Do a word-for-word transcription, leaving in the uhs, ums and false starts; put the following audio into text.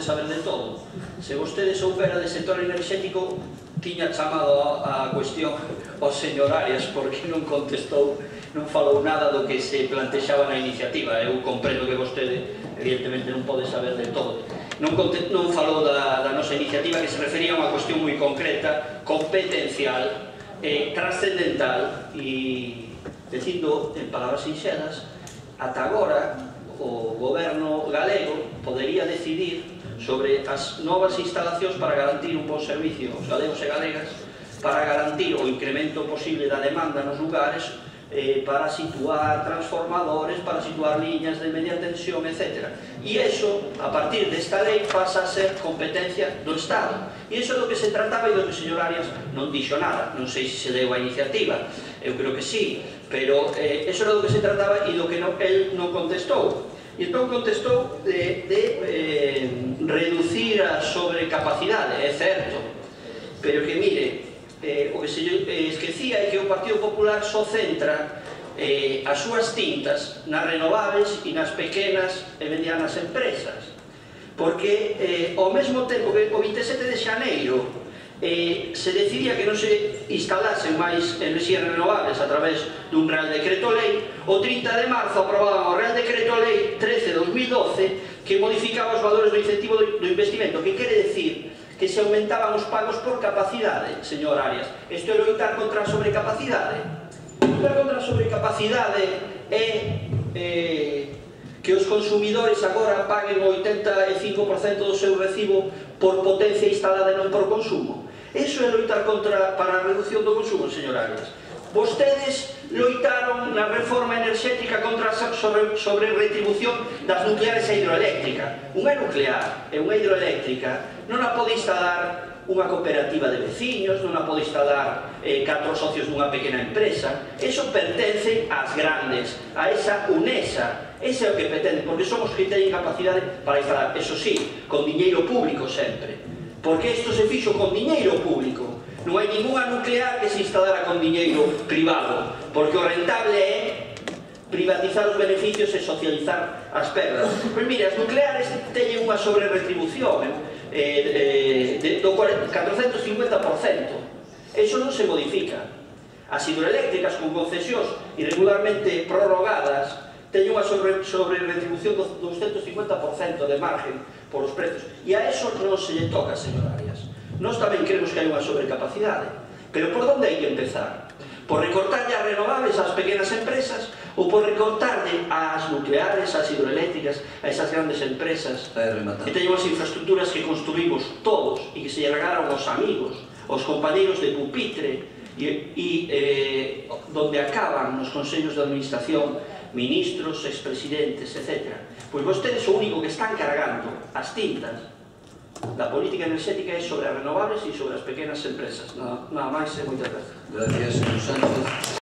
saber de todo. Se vostede soubera de sector enerxético, tiña chamado a cuestión ao señor Arias, porque non contestou, non falou nada do que se plantexaba na iniciativa. Eu comprendo que vostede, evidentemente, non pode saber de todo. Non falou da nosa iniciativa, que se refería a unha cuestión moi concreta, competencial, trascendental, e, dicindo en palabras sinxelas, ata agora o goberno galego podería decidir sobre as novas instalacións para garantir un bon servicio aos galegos e galegas, para garantir o incremento posible da demanda nos lugares, para situar transformadores, para situar liñas de media tensión, etcétera. E iso, a partir desta lei, pasa a ser competencia do Estado. E iso é do que se trataba e do que o señor Arias non dixo nada. Non sei se se deu a iniciativa, eu creo que sí, pero iso era do que se trataba e do que el non contestou. E entón contestou de reducir a sobrecapacidade, é certo, pero que mire, o que se esquecía é que o Partido Popular só centra as súas tintas nas renovables e nas pequenas e medianas empresas, porque ao mesmo tempo que o vinte e sete de xaneiro se decidía que non se instalasen máis enerxías renovables a través dun Real Decreto Lei, o trinta de marzo aprobaban o Real Decreto Lei trece barra dos mil doce que modificaba os valores do incentivo do investimento, que quere decir que se aumentaban os pagos por capacidade, señor Arias. Isto é loitar contra a sobrecapacidade. Loitar contra a sobrecapacidade é que os consumidores agora paguen o oitenta e cinco por cento do seu recibo por potencia instalada e non por consumo. Iso é loitar contra para a reducción do consumo, señor Arias. Vostedes loitaron na reforma enerxética contra a sobre-retribución das nucleares e hidroeléctrica. Unha nuclear e unha hidroeléctrica non a pode instalar unha cooperativa de veciños, non a pode instalar catro socios dunha pequena empresa. Iso pertence ás grandes, a esa UNESA. Ese é o que pretende, porque son os que teñen capacidade para instalar. Eso sí, con diñeiro público sempre. Porque isto se fixo con diñeiro público. Non hai ninguna nuclear que se instalara con diñeiro privado, porque o rentable é privatizar os beneficios e socializar as perdas. Pois mire, as nucleares teñen unha sobre-retribución do catrocentos cincuenta por cento. Iso non se modifica. As hidroeléctricas con concesións irregularmente prorrogadas teñen unha sobre-retribución do doscientos cincuenta por cento de margen por os prezos. E a eso non se lle toca, señor Arias. Nós tamén queremos que hai unha sobrecapacidade, pero por onde hai que empezar? Por recortarlle as renovables ás pequenas empresas ou por recortarlle ás nucleares, ás hidroeléctricas, a esas grandes empresas que teñen as infraestructuras que construímos todos e que se lle regalaron aos amigos, aos compañeros de pupitre e donde acaban nos consellos de administración ministros, expresidentes, etcétera. Pois vostedes o único que están cargando as tintas da política enerxética é sobre as renovables e sobre as pequenas empresas. Nada máis e moitas gracias. Gracias, señor Sánchez.